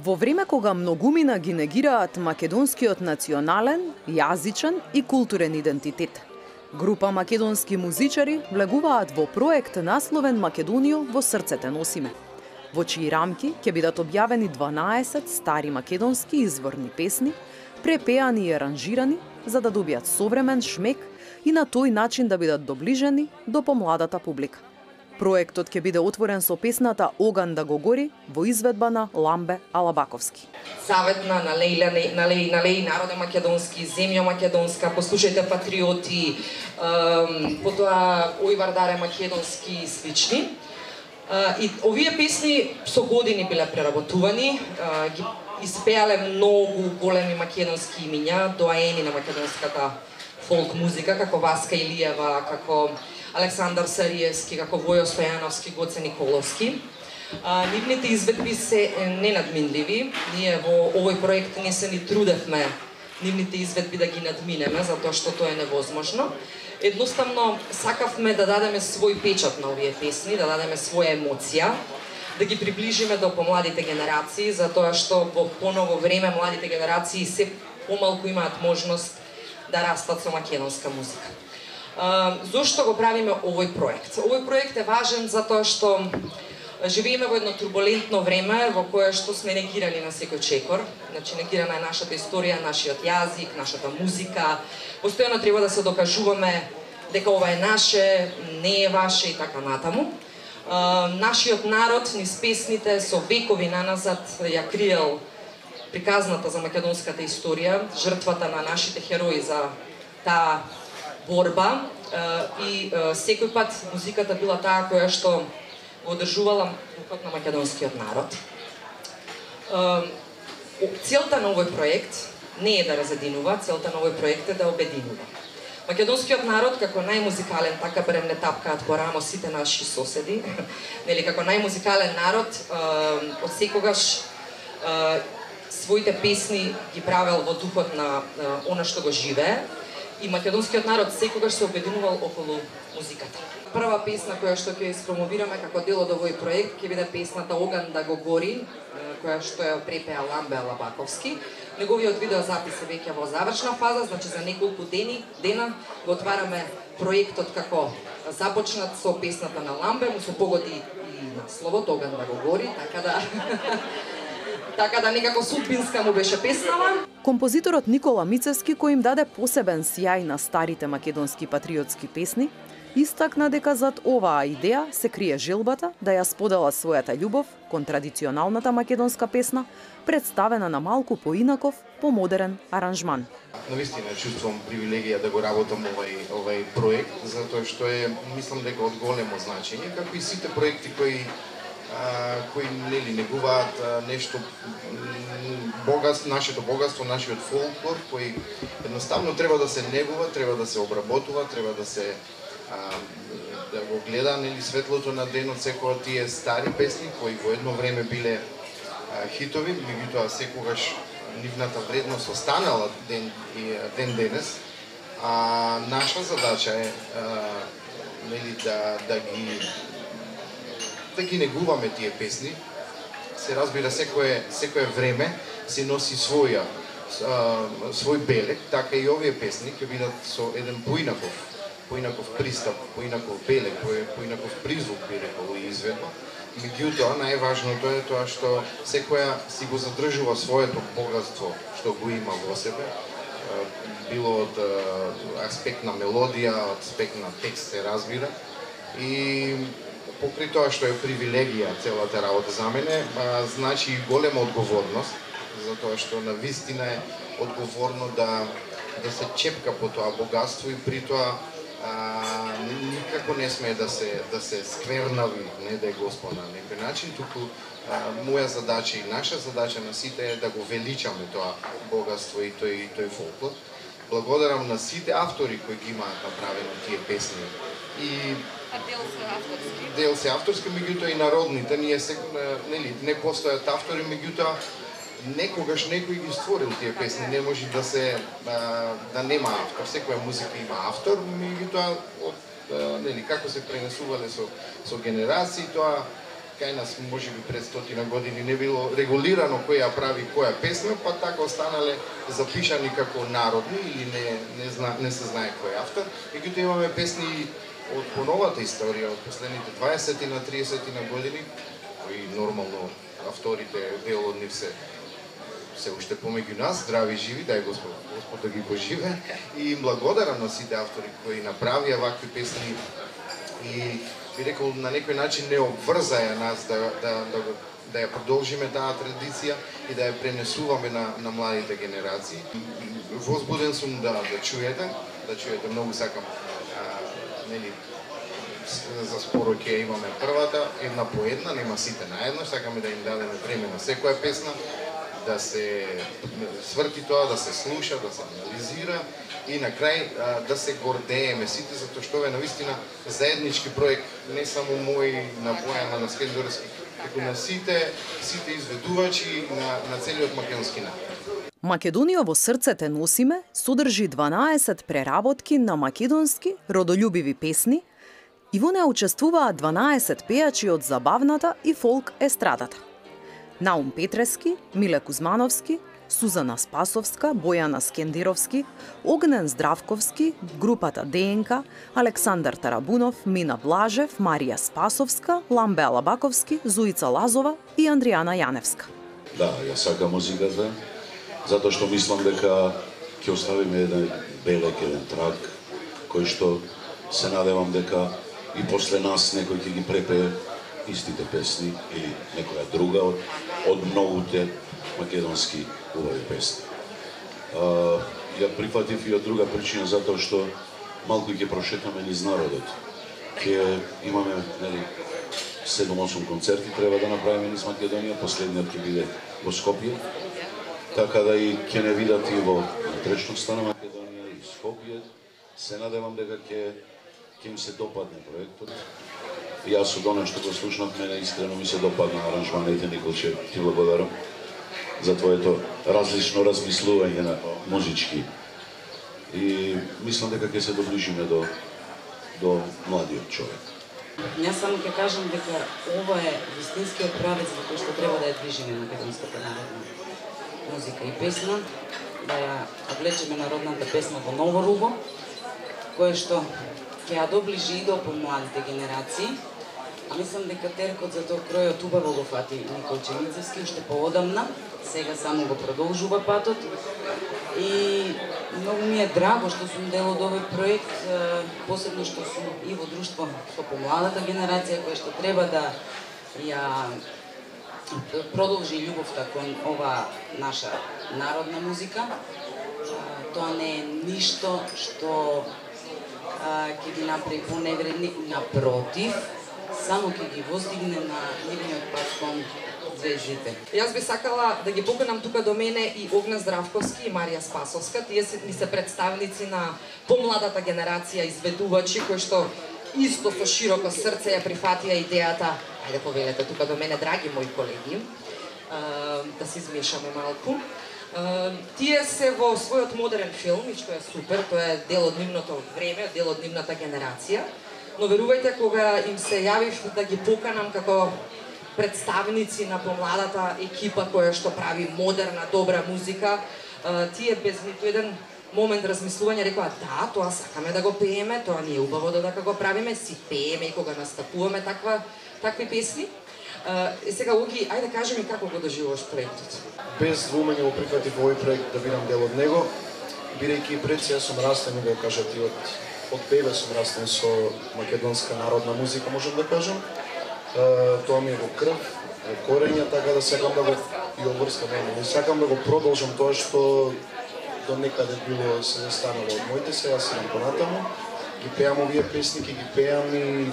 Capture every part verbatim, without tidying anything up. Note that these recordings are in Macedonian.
Во време кога многумина ги негираат македонскиот национален, јазичен и културен идентитет, група македонски музичари влегуваат во проект насловен Македонијо во срцете носиме, во чии рамки ќе бидат објавени дванаесет стари македонски изворни песни, препеани и аранжирани за да добијат современ шмек и на тој начин да бидат доближени до помладата публика. Проектот ќе биде отворен со песната Оган да го гори во изведба на Ламбе Алабаковски. Заветна на Лејла, на Леј, на Леј, народе македонски, земја македонска, послушајте патриоти, потоа Ојвардаре македонски и слични. И овие песни со години биле преработувани, ги испеале многу големи македонски имиња, доаени на македонската фолк музика, како Васка Илиева, како Александар Сариевски, како Војо Стојановски, Гоце Николовски. А, нивните изведби се ненадминливи. Ние во овој проект не се ни трудевме нивните изведби да ги надминеме, затоа што тоа е невозможно. Едноставно, сакавме да дадеме свој печат на овие песни, да дадеме своја емоција, да ги приближиме до помладите генерации, затоа што во поново време младите генерации се помалку имаат можност да растат со македонска музика. Uh, зошто го правиме овој проект? Овој проект е важен затоа што живееме во едно турбулентно време во кое што сме негирани на секој чекор. Значи негирана е нашата историја, нашиот јазик, нашата музика. Постојано треба да се докажуваме дека ова е наше, не е ваше и така натаму. Uh, нашиот народ низ песните со векови наназад ја криел приказната за македонската историја, жртвата на нашите херои за таа борба и секој пат музиката била таа која што го одржувала духот на македонскиот народ. Целта на овој проект не е да разединува, целта на овој проект е да обединува. Македонскиот народ како најмузикален, така барем не тапкаат по рамо сите наши соседи, нели како најмузикален народ од секогаш своите песни ги правел во духот на она што го живее. И македонскиот народ секогаш се обединувал околу музиката. Прва песна која што ќе испромовираме како дел од овој проект ќе биде песната Оган да го гори, која што ја препеа Ламбе Алабаковски. Неговиот видеозапис е веќе во завршна фаза, значи за неколку дени, дена го отвараме проектот како започнат со песната на Ламбе, му се погоди и насловот Оган да го гори, така да така да некако судбинска му беше песнава. Композиторот Никола Мицевски, кој им даде посебен сјај на старите македонски патриотски песни, истакна дека зад оваа идеја се крие желбата да ја сподела својата љубов кон традиционалната македонска песна, представена на малку поинаков, помодерен аранжман. Навистина чувствувам привилегија да го работам овај овај проект, затоа што е мислам дека од големо значење, како и сите проекти кои кои нели негуваат нешто богатство, нашето богатство, нашиот фолклор, кој едноставно треба да се негува, треба да се обработува, треба да се а, да го гледа нели светлото на денот секоја тие стари песни кои во едно време биле а, хитови, меѓутоа секогаш нивната вредност останала ден и ден денес. А наша задача е а, нели да да ги да ги негуваме тие песни. Се разбира, секое, секое време се носи своја, а, свој белег, така и овие песни ќе бидат со еден поинаков, поинаков пристап, поинаков белег, поинаков призвук, би рекол, и изведба. Меѓутоа, најважното е тоа што секоја си го задржува своето богатство што го има во себе, било од аспект на мелодија, од аспект на текст се разбира, и покрај тоа што е привилегија целата работа за мене, а, значи и голема одговорност, затоа што на вистина е одговорно да да се чепка по тоа богатство и при тоа а, никако не смее да се да се сквернави, не да е Господ на некој начин, туку а, моја задача и наша задача на сите е да го величаме тоа богатство и тој тој фолклор. Благодарам на сите автори кои ги имаат направено тие песни. И дел се авторски. Дел се авторски, меѓутоа и народните, ние се нели не постојат автори, меѓутоа некогаш некој ги створил тие песни, не може да се а, да нема автор. Секоја музика има автор, меѓутоа од нели како се пренесувале со со генерации, тоа кај нас можеби пред стотина години не било регулирано кој ја прави која песна, па така останале запишани како народни или не не зна, не се знае кој автор. Меѓутоа имаме песни од поновата историја, од последните дваесет на триесет на години, кои нормално авторите, дел од нив се се уште помеѓу нас, здрави живи, дај Господ, Господ да ги поживе, и им благодарам на сите автори кои направија вакви песни и би рекол на некој начин не обврзаја нас да да да да ја продолжиме таа традиција и да ја пренесуваме на на младите генерации. Возбуден сум да да чуете, да чуете, многу сакам нели за споро ќе имаме првата, една по една, нема сите наедно, сакаме да им дадеме време на секоја песна, да се сврти тоа, да се слуша, да се анализира и на крај да се гордееме сите, затоа што е навистина заеднички проект, не само мој, на Бојана, на Скендорски, како на сите сите изведувачи на на целиот македонски народ. Македонија во срцете носиме содржи дванаесет преработки на македонски родолюбиви песни и во неа учествуваат дванаесет пејачи од забавната и фолк естрадата. Наум Петрески, Миле Кузмановски, Сузана Спасовска, Бојана Скендировски, Огнен Здравковски, групата ДНК, Александар Тарабунов, Мина Блажев, Марија Спасовска, Ламбе Алабаковски, Зуица Лазова и Андријана Јаневска. Да, ја сакам музиката, затоа што мислам дека ќе оставиме еден белек, еден трак, кој што се надевам дека и после нас некој ќе ги препее истите песни или некоја друга од, од многуте македонски убави песни. А, ја прифатив и од друга причина, затоа што малку ќе прошетаме низ народот. Ќе имаме нели седум-осум концерти треба да направиме низ Македонија, последниот ќе биде во Скопје, така да и ќе не видат и во внатрешноста на Македонија и Скопје. Се надевам дека ќе ќе им се допадне проектот. Јас од оно што го слушнав, мене искрено ми се допадна аранжманите, Николче, ти благодарам за твоето различно размислување на музички. И мислам дека ќе се доближиме до до младиот човек. Јас само ќе кажам дека ова е вистинскиот правец во кој што треба да ја движиме македонската народна музика и песна, да ја облечеме народната песна во ново руво, кое што ќе ја доближи и до помладите генерации. А мислам дека теркот за тоа кројот убаво го фати Николче Мицевски уште поодамна, сега само го продолжува патот. И многу ми е драго што сум дел од овој проект, посебно што сум и во друштво со помладата генерација која што треба да ја продолжи љубовта кон ова наша народна музика. Тоа не е ништо што ќе ги направи поневредни, напротив, само ќе ги воздигне на нивниот пат кон звездите. Јас би сакала да ги поканам тука до мене и Огнен Здравковски и Марија Спасовска. Тие се, ни се представници на помладата генерација изведувачи кои што исто со широко срце ја прифатија идејата. Ајде повелете тука до мене, драги мои колеги, да се измешаме малку. Uh, тие се во својот модерен филм, и што е супер, тоа е дел од нивното време, дел од нивната генерација, но верувајте, кога им се јавив да ги поканам како представници на помладата екипа која што прави модерна, добра музика, uh, тие без ниту еден момент размислување рекоа да, тоа сакаме да го пееме, тоа ни е убаво додека го правиме, си пееме и кога настапуваме таква, такви песни. Uh, сега, Оги, ајде кажи ми како го доживуваш проектот. Без двумење го прифатив овој проект да бидам дел од него, бидејќи пред се сум растен, го кажат и од од бебе сум растен со македонска народна музика, можам да кажам. Uh, тоа ми е во крв, во корења, така да сакам да го и обврска мене. Сакам да го продолжам тоа што до некаде било се застанало од моите се, јас сум понатаму, ги пеам овие песни, ги пеам и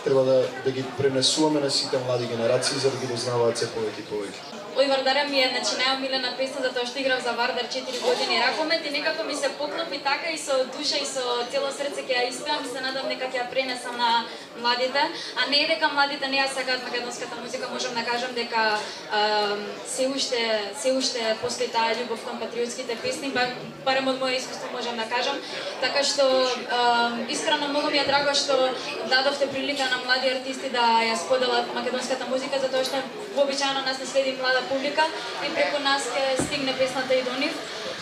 треба да, да ги пренесуваме на сите млади генерации за да ги дознаваат се повеќе и повеќе. Ој Вардаря ми е значи најомилена песна затоа што играв за Вардар четири години ракомет и некако ми се поклопи така и со душа и со цело срце ќе ја испеам и се надам дека ќе ја пренесам на младите, а не е дека младите не ја сакаат македонската музика, можам да кажам дека а, се уште се уште постои таа љубов кон патриотските песни, барем од моје искуство можам да кажам, така што а, искрено многу ми е драго што дадовте прилика на млади артисти да ја споделат македонската музика затоа што вообичаено нас не следи млада публика и преку нас ќе стигне песната и до нив.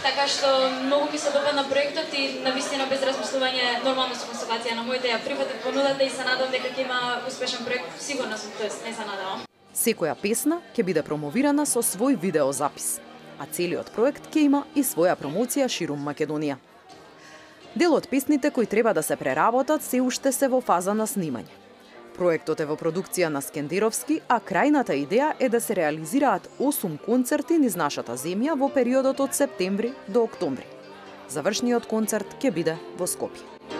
Така што многу ми се допадна проектот и навистина без размислување нормално со констатација на моите ја прифатив понудата и се надам дека ќе има успешен проект. Сигурна сум, тоест не се надевам. Секоја песна ќе биде промовирана со свој видеозапис, а целиот проект ќе има и своја промоција ширум Македонија. Дел од песните кои треба да се преработат се уште се во фаза на снимање. Проектот е во продукција на Скендеровски, а крајната идеја е да се реализираат осум концерти низ нашата земја во периодот од септември до октомври. Завршниот концерт ќе биде во Скопје.